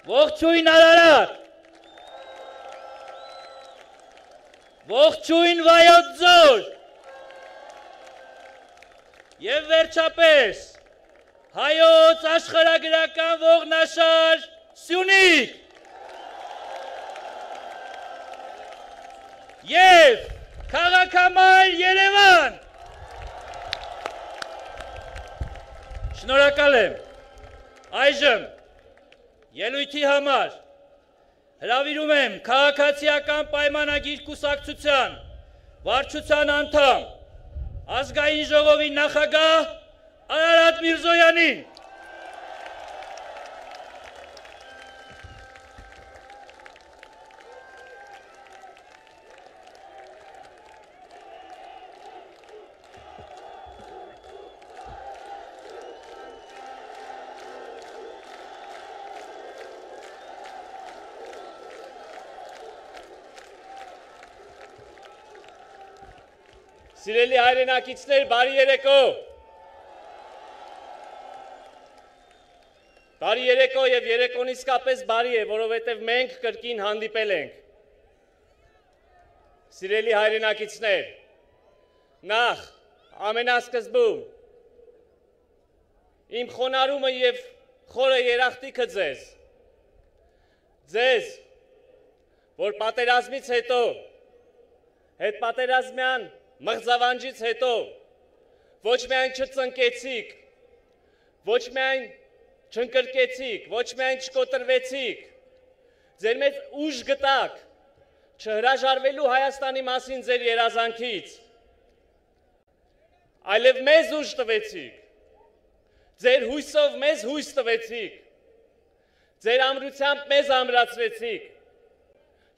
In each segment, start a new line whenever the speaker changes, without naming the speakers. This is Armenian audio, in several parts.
Ողջույն Արարատ, ողջույն Վայոց ձոր, և վերջապես հայոց աշխարհագրական ողնաշար Սյունիք և քաղաքամայր Երևան։ Շնորհակալ եմ։ Այժմ ելույթի համար հրավիրում եմ քաղաքացիական պայմանագիր կուսակցության վարչության անդամ, ազգային ժողովի նախագահ Արարատ Միրզոյանին։
Սիրելի հայրենակիցներ, բարի երեկո։ Բարի երեկո և երեկոն իսկապես բարի է, որովհետև մենք կրկին հանդիպել ենք։ Սիրելի հայրենակիցներ, նախ ամենասկզբում իմ խոնարհումը և խորը երախտիքը ձեզ, որ պատերազմից հետո, հետպատերազմյան մղձավանջից հետո ոչ միայն չծնկեցիք, ոչ միայն չընկրկեցիք, ոչ միայն չկոտրվեցիք, ձեր մեծ ուժ գտաք չհրաժարվելու Հայաստանի մասին ձեր երազանքից, այլև մեզ ուժ տվեցիք, ձեր հույսով մեզ հույս տվեցիք, ձեր ամրությամբ մեզ ամրացրեցիք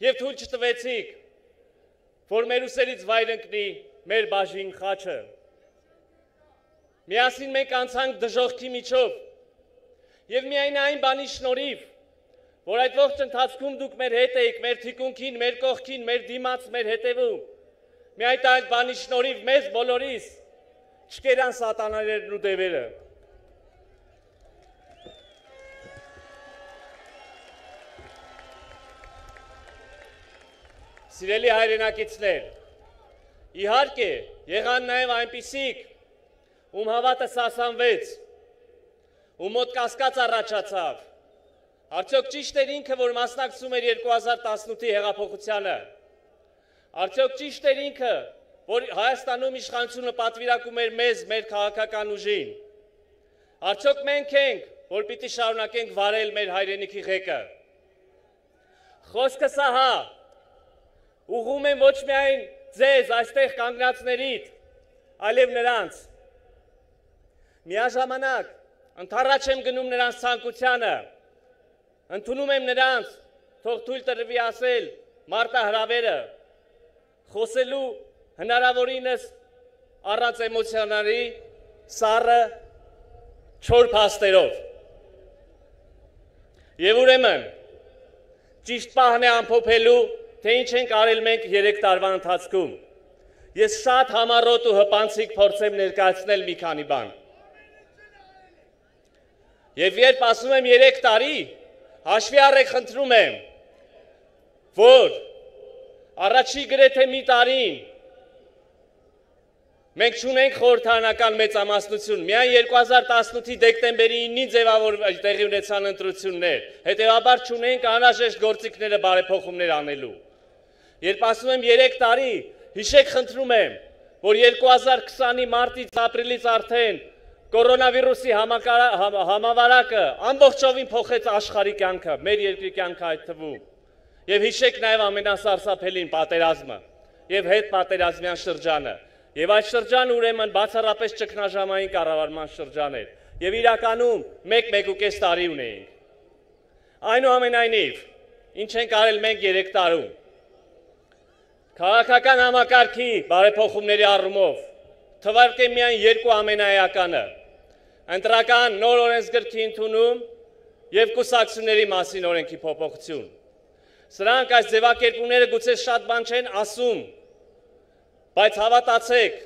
և թույլ չտվեցիք, որ մեր ուսերից վայր ընկնի մեր բաժին խաչը։ Միասին մենք անցանք դժոխքի միջով և միայն այն բանի շնորհիվ, որ այդ ողջ ընթացքում դուք մեր հետ էիք, մեր թիկունքին, մեր կողքին, մեր դիմաց, մեր հետևում, միայն այդ բանի շնորհիվ մեզ բոլորիս չկերան սատաներն ու դևերը։ Սիրելի հայրենակիցներ, իհարկե, եղան նաև այնպիսիք, ում հավատը սասանվեց, ում մոտ կասկած առաջացավ, արդյոք ճիշտ էր ինքը, որ մասնակցում էր 2018-ի հեղափոխությանը, արդյոք ճիշտ էր ինքը, որ Հայաստանում իշխանությունը պատվիրակում էր մեզ, մեր քաղաքական ուժին, արդյոք մենք ենք, որ պիտի շարունակենք վարել մեր հայրենիքի ղեկը։ Խոսքը սահա, ուղղում եմ ոչ միայն ձեզ այստեղ կանգնածներիդ, այլև նրանց։ Միաժամանակ ընդառաջ եմ գնում նրանց ցանկությանը, ընդունում եմ նրանց, թող թույլ տրվի ասել մարտահրավերը, խոսելու հնարավորինս առանց էմոցիաների, սառը, չոր փաստերով։ Եվ ուրեմն, ճիշտ պահն է ամփոփելու, թե ինչ ենք արել մենք 3 տարվա ընթացքում։ Ես շատ համառոտ ու հպանցիկ փորձեմ ներկայացնել մի քանի բան։ Եվ երբ ասում եմ 3 տարի, հաշվի առեք խնդրում եմ, որ առաջի գրեթե մի տարին մենք չունենք խորհրդարանական մեծամասնություն, միայն 2018-ի դեկտեմբերի 9-ին ձևավորվեց տեղի ունեցան ընտրություններ, հետևաբար չունենք անհրաժեշտ գործիքները բարեփոխումներ անելու։ Երբ ասում եմ 3 տարի, հիշեք խնդրում եմ, որ 2020-ի մարտից ապրիլից արդեն կորոնավիրուսի համավարակը ամբողջովին փոխեց աշխարհի կյանքը, մեր երկրի կյանքը այդ թվում։ Եվ հիշեք նաև ամենասարսափելին պատերազմը և հետպատերազմյան շրջանը։ Եվ այդ շրջանը ուրեմն բացառապես ճգնաժամային կառավարման շրջան էր։ Եվ իրականում 1-1.5 տարի ունեինք։ Այնուամենայնիվ, ինչ ենք արել մենք 3 տարում։ Քաղաքական համակարգի բարեփոխումների առումով թվարկեմ միայն 2 ամենաեականը՝ ընտրական նոր օրենսգրքի ընդունում և կուսակցությունների մասին օրենքի փոփոխություն։ Սրանք այս ձևակերպումները գուցե շատ բան չեն ասում, բայց հավատացեք,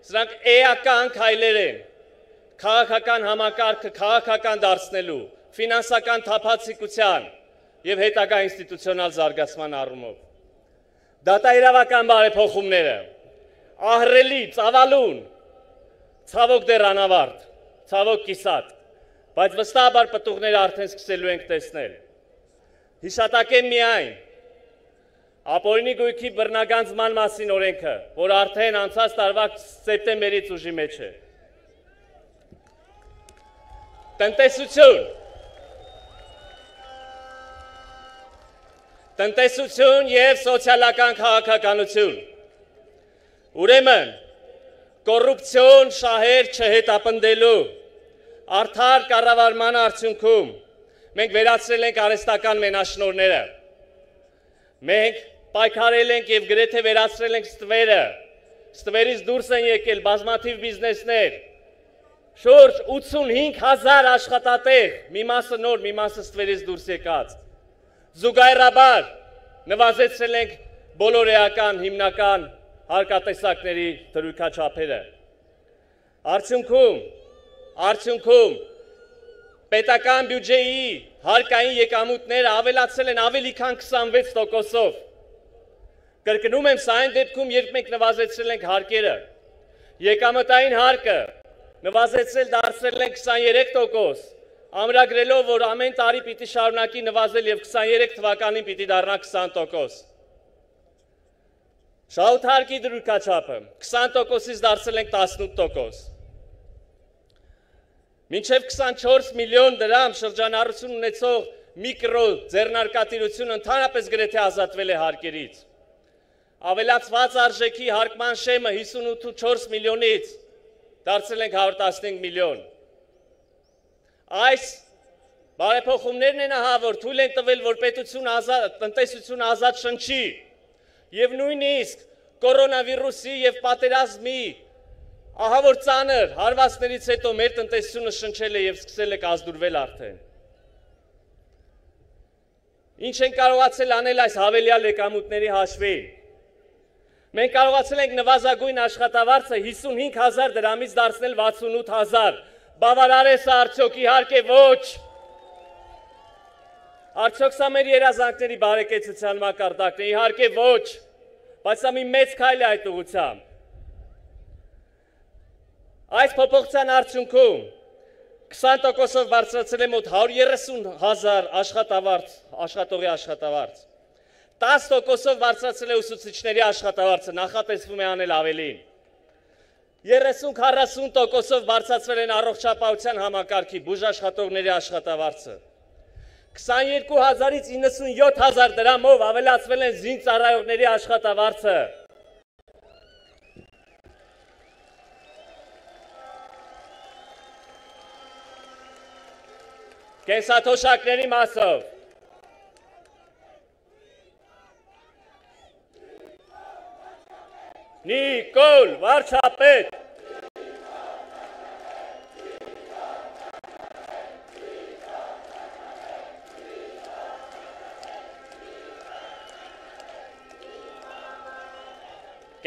սրանք էական քայլեր են քաղաքական համակարգը քաղաքական դարձնելու, ֆինանսական թափանցիկության եւ հետագա ինստիտուցիոնալ զարգացման առումով։ Դատաիրավական բարեփոխումները ահռելի, ծավալուն, ցավոք դեռ անավարտ, ցավոք կիսատ, բայց վստահաբար պտուղները արդեն սկսելու ենք տեսնել։ Հիշատակեմ միայն ապօրինի գույքի բռնագանձման մասին օրենքը, որ արդեն անցած տարվա սեպտեմբերից ուժի մեջ է։ Տնտեսություն եւ սոցիալական քաղաքականություն։ Ուրեմն, կոռուպցիոն շահեր չհետապնդելու արդար կառավարման արդյունքում մենք վերացրել ենք արհեստական մենաշնորհները։ Մենք պայքարել ենք եւ գրեթե վերացրել ենք ստվերը։ Ստվերից դուրս են եկել բազմաթիվ բիզնեսներ։ Շուրջ 85,000 աշխատատեղ, մի մասը նոր, մի մասը ստվերից դուրս եկած։ Զուգահեռաբար նվազեցրել ենք բոլոր էական հիմնական հարկատեսակների դրույքաչափերը։ Արդյունքում պետական բյուջեի հարկային եկամուտները ավելացել են ավելի քան 26%-ով։ Կրկնում եմ, սա այն դեպքում, երբ մենք նվազեցրել ենք հարկերը, եկամտային հարկը նվազեցրել դարձրել են 23%, ամրագրելով, որ ամեն տարի պիտի շարունակի նվազել եւ 23 թվականին պիտի դառնա 20%։ Շահութարկի դրույքաչափը 20%-ից դարձել ենք 18%։ Մինչև 24 միլիոն դրամ շրջանառություն ունեցող միկրո ձեռնարկատիրություն ընդհանրապես գրեթե ազատվել է հարկերից։ Ավելացված արժեքի հարկման շեմը 58.4 միլիոնից դարձել ենք 115 միլիոն։ Այս բարեփոխումներն են ահա, որ թույլ են տվել, որ տնտեսություն ազատ շնչի եւ նույնիսկ կորոնավիրուսի եւ պատերազմի ահա որ ծանր հարվածներից հետո մեր տնտեսությունը շնչել է եւ սկսել է կազդուրվել արդեն։ Ինչ են կարողացել անել այս հավելյալ եկամուտների հաշվին։ Մենք կարողացել ենք նվազագույն աշխատավարձը 55,000 դրամից դարձնել 68,000։ Բավարար է սա արդյոք, իհարկե ոչ։ Արդյոք սա մեր երազանքների բարեկեցության մակարդակն է, իհարկե ոչ։ Բայց սա մի մեծ քայլ է այդ ուղղությամբ։ Այս փոփոխության արդյունքում 20%-ով բարձրացել է մոտ 130,000 աշխատողի աշխատավարձ։ 10%-ով բարձրացել է ուսուցիչների աշխատավարձը, նախատեսվում է անել ավելին։ 30-40%-ով բարձրացվել են առողջապահության համակարգի բուժաշխատողների աշխատավարձը։ 22,000-ից 97,000 դրամով ավելացվել են զինծառայողների աշխատավարձը։ Կենսաթոշակների մասով Նիկոլ վարչապետ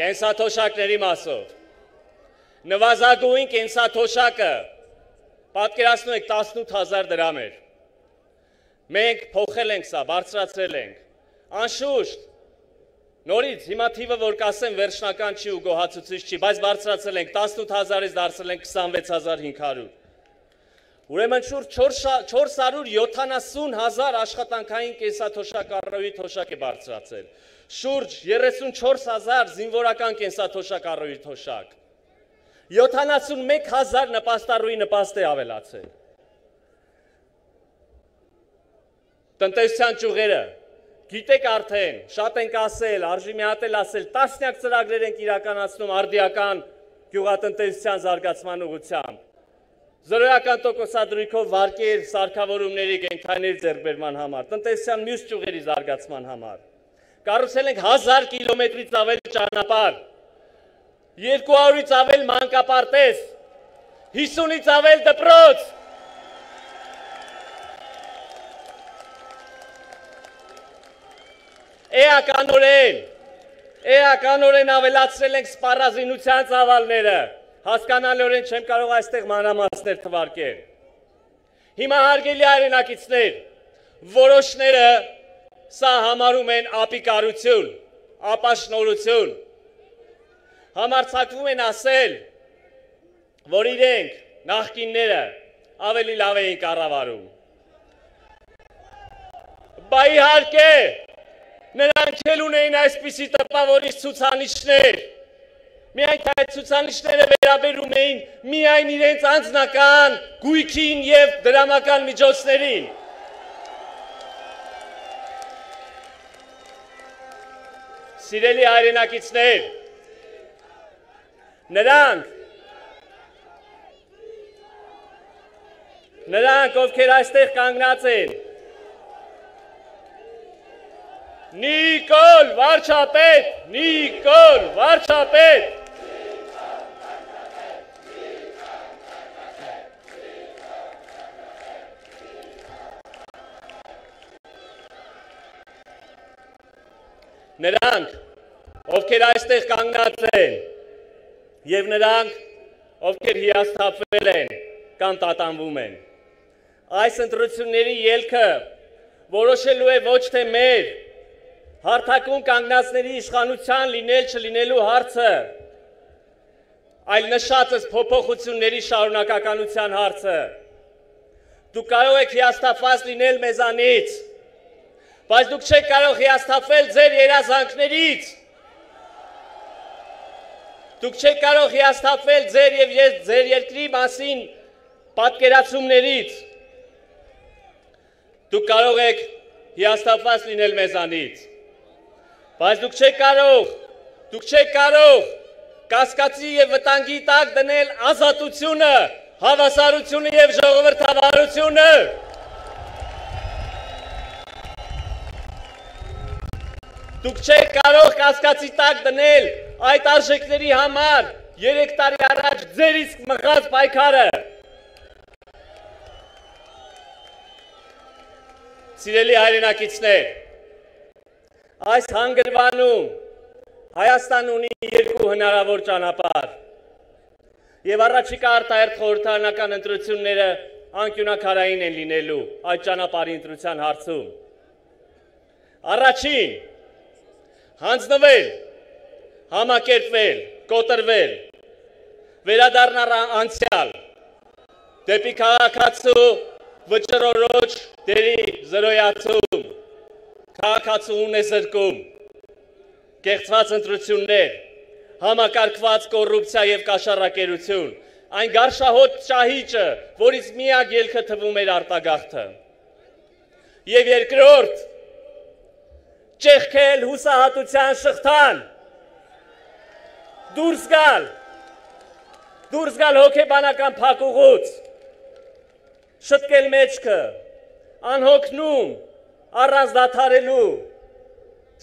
Կենսաթոշակների մասով նվազագույն կենսաթոշակը պատկերացնում եք 18,000 դրամ էր։ Մենք փոխել ենք սա, բարձրացրել ենք։ Անշուշտ, նորից հիմա թիվը, որ կասեմ, վերջնական չի ու գոհացուցիչ չի, բայց բարձրացրել ենք 18,000-ից դարձել ենք 26,500։ Ուրեմն շուրջ 470,000 աշխատանքային կենսաթոշակ առօրյա թոշակ է բարձրացել։ Շուրջ 34,000 զինվորական կենսաթոշակ առօրյա թոշակ։ 71,000 նպաստառուի նպաստ է ավելացել։ Տնտեսության ճյուղերը, գիտեք արդեն, շատ ենք ասել, արժի մի հատ էլ ասել, տասնյակ ծրագրեր ենք իրականացնում արդիական գյուղատնտեսության զարգացման ուղղությամբ։ 0% դրույքով վարկեր, սարքավորումների, կենդանիների ձեռքբերման համար, տնտեսության մյուս ճյուղերի զարգացման համար։ Կառուցել ենք 1000 կիլոմետրից ավել ճանապարհ, 200-ից ավել մանկապարտեզ, 50-ից ավել դպրոց։ Էականորեն ավելացրել ենք սպառազինության ծավալները, հասկանալիորեն չեմ կարող այստեղ մանրամասներ թվարկել։ Հիմա հարգելի հայրենակիցներ, որոշները սա համարում են ապիկարություն, ապաշնորհություն, համարձակվում են ասել, որ իրենք նախկինները ավելի լավ էին կառավարում։ Բա իհարկե, նրանք էլ ունեին այսպիսի տպավորիչ ցուցանիշներ, միայն թե այդ ցուցանիշները վերաբերում էին միայն իրենց անձնական գույքին և դրամական միջոցներին։ Սիրելի հայրենակիցներ, նրանք, ովքեր այստեղ կանգնած են, Նիկոլ վարչապետ, Նիկոլ վարչապետ, նրանք, ովքեր այստեղ կանգնած են, և նրանք, ովքեր հիասթափվել են կամ տատանվում են, այս ընտրությունների ելքը որոշելու է ոչ թե մեր հարթակում կանգնածների իշխանության լինել չլինելու հարցը, այլ նշածս փոփոխությունների շարունակականության հարցը։ Դուք կարող եք հիասթափված լինել մեզանից, բայց դուք չեք կարող հիասթափվել ձեր երազանքներից։ Դուք չեք կարող հիասթափվել ձեր և ձեր երկրի մասին պատկերացումներից։ Դուք կարող եք հիասթափված լինել մեզանից, բայց դուք չեք կարող կասկածի և վտանգի տակ դնել ազատությունը, հավասարությունը և ժողովրդավարությունը։ Դուք չեք կարող կասկածի տակ դնել այդ արժեքների համար 3 տարի առաջ ձերից մղած պայքարը։ Սիրելի հայրենակիցներ, այս հանգրվանում Հայաստան ունի 2 հնարավոր ճանապարհ, և առաջիկա արտահերթ խորհրդարանական ընտրությունները անկյունաքարային են լինելու այդ ճանապարհի ընտրության հարցում։ Առաջին, հանձնվել, համակերպվել, կոտրվել, վերադառնալ անցյալ, դեպի քաղաքացու վճռորոշ դերի զրոյացում, քաղաքացուն է զրկում, կեղծված ընտրություններ, համակարգված կոռուպցիա և կաշառակերություն, այն գարշահոտ ճահիճը, որից միակ ելքը թվում էր արտագաղթը։ Եվ երկրորդ, ճեղքել հուսահատության շղթան, դուրս գալ հոգեբանական փակուղուց, շտկել մեջքը, անհոգնում, առանց դադարելու,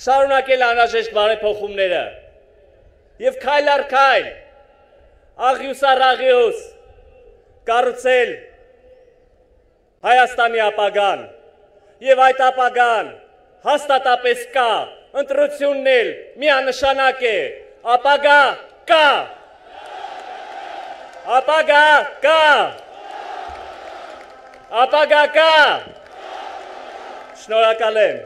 շարունակել անհրաժեշտ բարեփոխումները և քայլ առ քայլ, աղյուս առ աղյուս, կառուցել Հայաստանի ապագան, և այդ ապագան հաստատապես կա, ընտրությունն էլ միանշանակ է, ապագա կա, ապագա կա, ապագա կա, շնորհակալ եմ։